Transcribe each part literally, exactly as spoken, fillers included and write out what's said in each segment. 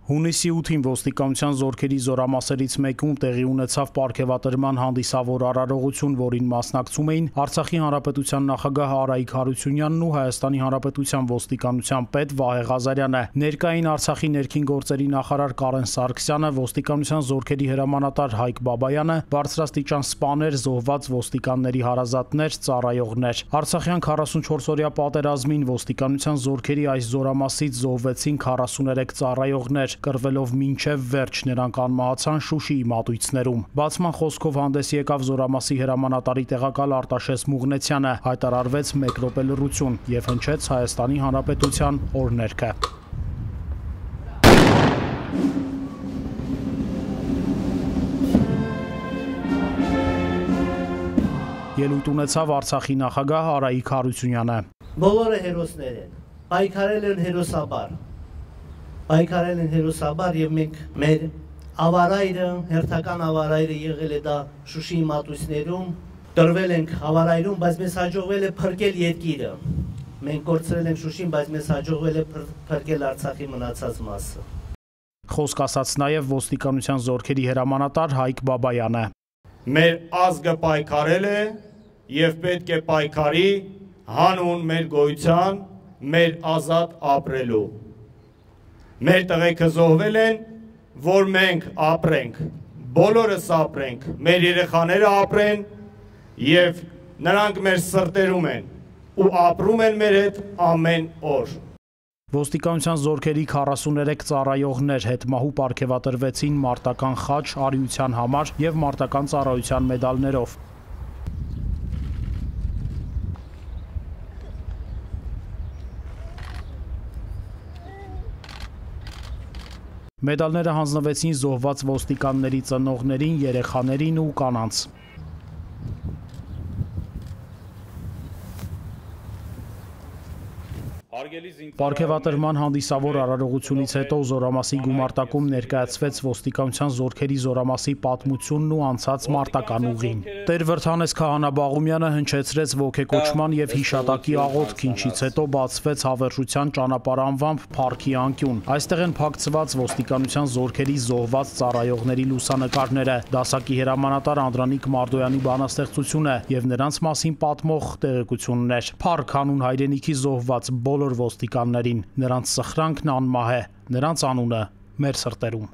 Հունիսի ութին ոստիկանության զորքերի զորամասերից մեկում տեղի ունեցավ պարգևատրման հանդիսավոր արարողություն, որին մասնակցում էին Արցախի Հանրապետության նախագահ Արայիկ Հարությունյանն ու Հայաստանի Հանրապետության ոստիկանության պետ Վահե Ղազարյանը։ Ներկային Արցախի ներքին գործերի նախարար Կարեն Սարգսյանը, ոստիկանության զորքերի հրամանատար Հայկ Բաբայանը, բարձրաստիճան սպաներ, զոհված ոստիկանների հարազատներ, ծառայողներ։ Արցախյան քառասունչորսօրյա պատերազմին ոստիկանության զորքերի այս զորամասից զոհվեցին քառասուներեք ծառայողներ, կռվելով մինչև վերջ նրանք անմահացան Շուշիի մատույցներում։ Բացման խոսքով հանդես եկավ զորամասի հրամանատարի տեղակալ Արտաշես Մուղնեցյանը, հայտարարվեց մեկ րոպե լռություն եւ հնչեց Հայաստանի Հանրապետության օրհներգը։ Ելույթ ունեցավ Արցախի նախագահ Արայիկ Հարությունյանը։ Բոլորը հերոսներ են, պայքարել են հերոսաբար։ Պայքարել են հերոսաբար եւ մենք մեր ավարայրը, հերթական ավարայրը եղել է դա Շուշիի մատույցներում, տրվել ենք ավարայրում, բայց մեզ հաջողվել է փրկել երկիրը։ Մենք կորցրել ենք Շուշին, բայց մեզ հաջողվել է փրկել Արցախի մնացած մասը։ Խոսք ասաց նաեւ ոստիկանության զորքերի հրամանատար Հայկ Բաբայանը։ Մեր ազգը պայքարել է եւ պետք է պայքարի հանուն մեր գոյության, մեր ազատ ապրելու։ Մեր տղեկը զոհվել են, որ մենք ապրենք, բոլորս ապրենք, մեր երեխաները ապրեն եւ նրանք մեր սրտերում են ու ապրում են մեր հետ ամեն օր։ Ոստիկանության զորքերի քառասուներեք ծառայողներ հետմահու պարգևատրվեցին մարտական խաչ, արիության համար եւ մարտական ծառայության մեդալներով։ Մեդալները հանձնվեցին զոհված ոստիկանների ծնողներին, երեխաներին ու կանանց։ Պարգևատրման հանդիսավոր արարողությունից հետո զորամասի գումարտակում ներկայացվեց ոստիկանության զորքերի զորամասի պատմությունն ու անցած մարտական ուղին։ Տեր Վրդանես Քահանա Բաղումյանը հնչեցրեց ոգեկոչման եւ հիշատակի աղոթք, ինչից հետո բացվեց հավերժության ճանապարհ անվամբ Փառքի անկյուն։ Այստեղ են փակցված ոստիկանության զորքերի զոհված ծառայողների լուսանկարները, դասակի հրամանատար Անդրանիկ Մարդոյանի բանաստեղծությունը եւ նրանց մասին պատմող տեղեկություններ։ Փառք հանուն հայրենիքի զոհված բոլոր ոստիկաններին, նրանց սխրանքն անմահ է, նրանց անունը մեր սրտերում։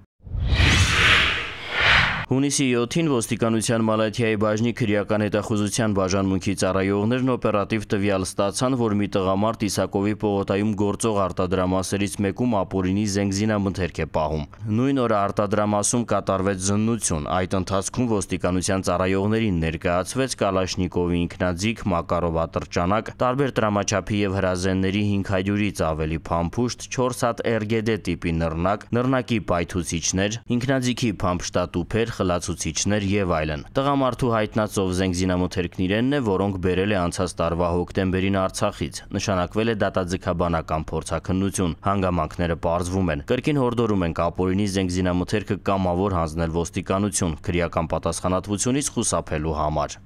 Հունիսի յոթին ոստիկանության Մալաթիայի բաժնի քրեական հետախուզության բաժանմունքի ծառայողներն օպերատիվ տվյալ ստացան, որ մի տղամարդ Իսակովի պողոտայում գործող արտադրամասերից մեկում ապօրինի զենգզինամթերք է պահում։ Նույն օրը արտադրամասում կատարվեց զննություն, այդ ընթացքում ոստիկանության ծառայողներին ներկայացվեց Կալաշնիկովի ինքնաձիգ, Մակարով ատրճանակ, տարբեր տրամաչափի եւ հրազենների հինգ հարյուրից ավելի փամփուշտ, չորս հատ Էր Գե Դե տիպի նռնակ, նռնակի պայթուցիչներ, ինքնաձիգի փամփշտատուփեր, խլացուցիչներ եւ այլն։ Տղամարդու հայտնածով զենգզինամթերքն իրենն է, որոնք բերել է անցած տարվա հոկտեմբերին Արցախից։ Նշանակվել է դատաձգաբանական փորձաքննություն։ Հանգամանքները պարզվում են։ Կրկին հորդորում ենք ապօրինի զենգզինամթերքը կամավոր հանձնել ոստիկանություն, քրեական պատասխանատվությունից խուսափելու համար։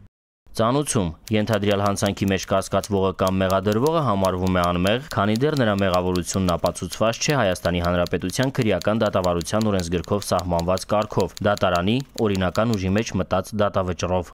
Ծանուցում ենթադրյալ հանցանքի մեջ կասկածվողը կամ մեղադրվողը համարվում է անմեղ, քանի դեռ նրա մեղավորությունն ապացուցված չէ Հայաստանի Հանրապետության քրեական դատավարության օրենսգրքով սահմանված կարգով, դատարանի օրինական ուժի մեջ մտած դատավճռով։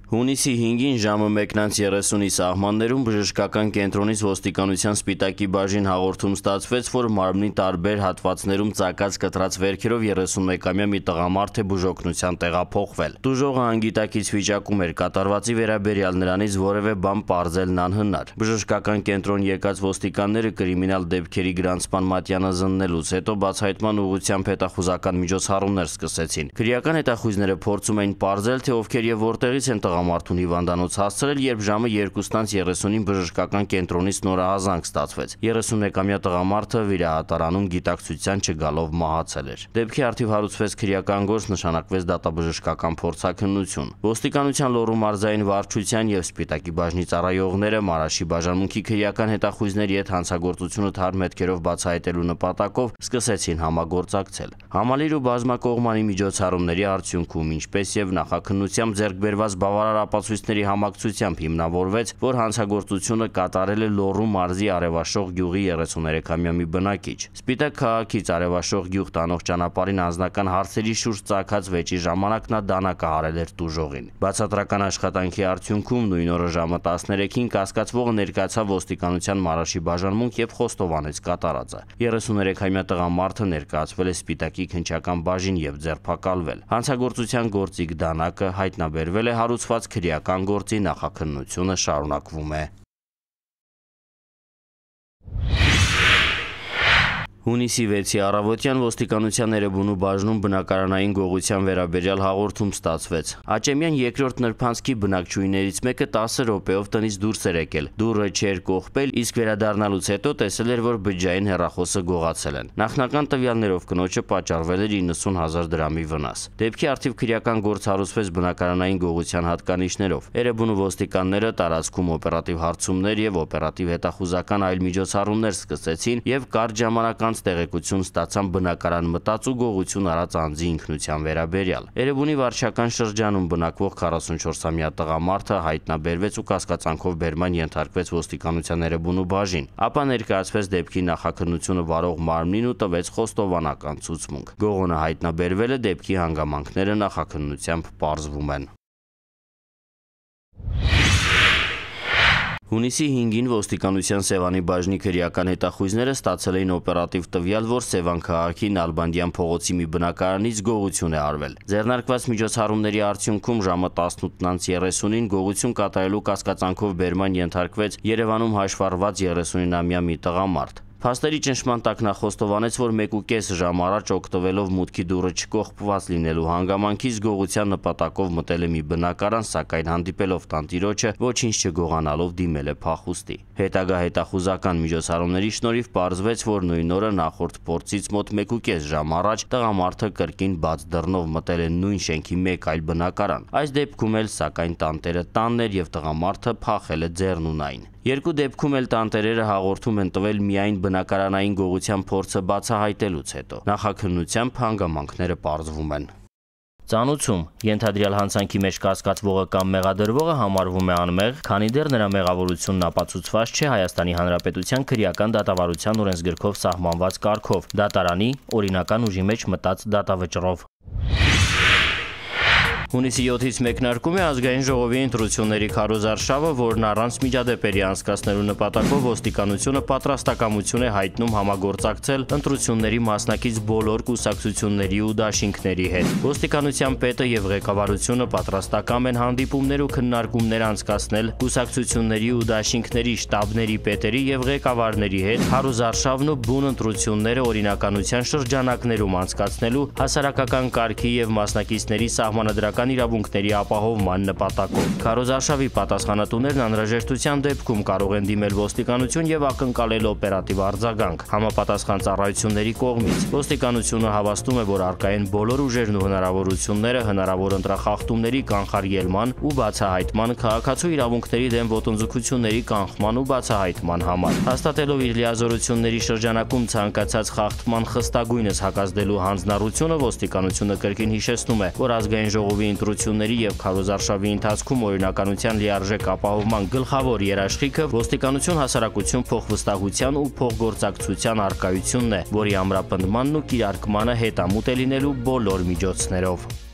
Հունիսի հինգին ժամը մեկն երեսունի սահմաններում բժշկական կենտրոնից ոստիկանության Սպիտակի բաժին հաղորդում ստացվեց, որ մարմնի տարբեր հատվածներում ծակած կտրած վերքերով երեսունմեկամյա մի տղամարդ է բուժօգնության տեղափոխվել։ Տուժողը անգիտակից վիճակում էր, կատարվածի վերաբերյալ նրանից որևէ բան պարզելն անհնար։ Բժշկական կենտրոն եկած ոստիկանները կրիմինալ դեպքերի գրանցման մատյանը զննելուց հետո բացահայտման ուղղությամբ հետախուզական միջոցառումներ սկսեցին։ Քրեական հետախույզները փորձում էին պարզել, թե ովքեր եւ որտեղից են տղամարդուն հիվանդանոց հասցրել, երբ ժամը երկուսից երեսունին բժշկական կենտրոնից նորահազանգ ստացվեց։ երեսունմեկամյա տղամարդը վիրահատարանում գիտակցության չգալով մահացել էր։ Դեպքի առթիվ հարուցվեց քրեական գործ, նշանակվեց դատաբժշկական փորձաքննություն։ Ոստիկանության Լոռու մարզային վարչության եւ Սպիտակի բաժնի ծառայողները Մարաշի բաժանմունքի քրեական հետախույզների հետ հանցագործությունը թարմ հետքերով բացահայտելու նպատակով սկսեցին համագործակցել։ Համալիր ու բազմակողմանի միջոցառումների արդյունքում, ինչպես եւ նախաքննությամբ ձեռք բերված բավարար բավարար ապացույցների համակցությամբ հիմնավորվեց, որ հանցագործությունը կատարել է Լոռու մարզի Արևաշող գյուղի երեսուներեքամյա մի բնակիչ։ Սպիտակ քաղաքից Արևաշող գյուղ տանող ճանապարհին անձնական հարցերի շուրջ ծագած վեճի ժամանակ նա դանակը հարել էր տուժողին։ Բացատրական աշխատանքի արդյունքում նույն օրը ժամը տասներեքին կասկածվողը ներկայացավ ոստիկանության Մարաշի բաժանմունք եւ խոստովանեց կատարածը։ երեսուներեքամյա տղամարդը ներկայացվել է Սպիտակի քննչական բաժին եւ ձերբակալվել։ Հանցագործության գործիք դանակը հայտնաբերվել է, հարուցված քրեական գործի նախաքննությունը շարունակվում է։ Հունիսի վեցի առավոտյան ոստիկանության Էրեբունու բաժնում բնակարանային գողության վերաբերյալ հաղորդում ստացվեց։ Աճեմյան երկրորդ նրբանցքի բնակչուհիներից մեկը տասը րոպեով տնից դուրս էր եկել։ Դուռը չէր կողպել, իսկ վերադառնալուց հետո տեսել էր, որ բջջային հեռախոսը գողացել են։ Նախնական տվյալներով կնոջը պատճառվել էր իննսուն հազար դրամի վնաս։ Դեպքի առթիվ քրեական գործ հարուցվեց բնակարանային գողության հատկանիշներով։ Էրեբունու ոստիկանները տարածքում օպերատիվ հարցումներ եւ օպերատիվ հետախուզական այլ միջոցառումներ սկսեցին եւ կարճ ժամանակ տեղեկություն ստացան բնակարան մտած ու գողություն արած անձի ինքնության վերաբերյալ։ Էրեբունի վարչական շրջանում բնակվող քառասունչորսամյա տղամարդը հայտնաբերվեց ու կասկածանքով բերման ենթարկվեց ոստիկանության Էրեբունու բաժին, ապա ներկայացվեց դեպքի նախաքննությունը վարող մարմնին ու տվեց խոստովանական ցուցմունք։ Գողոնը հայտնաբերվել է, դեպքի հանգամանքները նախաքննությամբ պարզվում են։ Հունիսի հինգին ոստիկանության Սևանի բաժնի քրեական հետախույզները ստացել էին օպերատիվ տվյալ, որ Սևան քաղաքի Նալբանդյան փողոցի մի բնակարանից գողություն է արվել։ Ձեռնարկված միջոցառումների արդյունքում ժամը տասնութ անց երեսունին գողություն կատարելու կասկածանքով բերման ենթարկվեց Երևանում հաշվառված երեսունամյա մի տղամարդ։ Փաստերի ճնշման տակ նա խոստովանեց, որ մեկ ու կես ժամ առաջ օգտվելով մուտքի դուռը չկողպված լինելու հանգամանքից գողության նպատակով մտել է մի բնակարան, սակայն հանդիպելով տանտիրոջը ոչինչ չգողանալով դիմել է փախուստի։ Հետագա հետախուզական միջոցառումների շնորհիվ պարզվեց, որ նույն օրը նախորդ փորձից մոտ մեկ ու կես ժամ առաջ տղամարդը կրկին բաց դռնով մտել է նույն շենքի մեկ այլ բնակարան։ Այս դեպքում էլ սակայն տանտերը տանն էր եւ տղամարդը փախել է ձեռնունայն։ Երկու դեպքում էլ տանտերերը հաղորդում են տվել միայն բնակարանային գողության փորձը բացահայտելուց հետո։ Նախաքննությամբ հանգամանքները պարզվում են։ Ծանուցում ենթադրյալ հանցանքի մեջ կասկածվողը կամ մեղադրվողը համարվում է անմեղ, քանի դեռ նրա մեղավորությունն ապացուցված չէ Հայաստանի Հանրապետության քրեական դատավարության օրենսգրքով սահմանված կարգով, դատարանի օրինական ուժի մեջ մտած դատավճռով։ Հունիսի յոթից մեկնարկում է ազգային ժողովի ընտրությունների քարոզարշավը, որն առանց միջադեպերի անցկացնելու նպատակով ոստիկանությունը պատրաստակամություն է հայտնում համագործակցել ընտրությունների մասնակից բոլոր կուսակցությունների ու դաշինքների հետ։ Ոստիկանության պետը եւ ղեկավարությունը պատրաստակամ են հանդիպումներ ու քննարկումներ անցկացնել կուսակցությունների ու դաշինքների շտաբների պետերի եւ ղեկավարների հետ քարոզարշավն ու բուն ընտրությունները օրինականության շրջանակներում անցկացնելու հասարակական կարգի եւ մասնակիցների սահմանադրական իրավունքների ապահովման նպատակով։ Քարոզարշավի պատասխանատուներն անհրաժեշտության դեպքում կարող են դիմել ոստիկանություն եւ ակնկալել օպերատիվ արձագանք համապատասխան ծառայությունների կողմից։ Ոստիկանությունը հավաստում է, որ առկա են բոլոր ուժերն ու հնարավորությունները հնարավոր ընտրախախտումների կանխարգելման ու բացահայտման, քաղաքացու իրավունքների դեմ ոտնձգությունների կանխման ու բացահայտման համար։ Հաստատելով իր լիազորությունների շրջանակում ցանկացած խախտման խստագույնս հակազդելու հանձնառությունը, ոստիկանությունը կրկին հիշեցնում է, որ ազգային ժողովի ընտրությունների եւ քարոզարշավի ընթացքում օրինականության լիարժեք ապահովման գլխավոր երաշխիքը ոստիկանություն հասարակություն փոխվստահության ու փոխգործակցության առկայությունն է, որի ամրապնդմանն ու կիրարկմանը հետամուտ է լինելու բոլոր միջոցներով։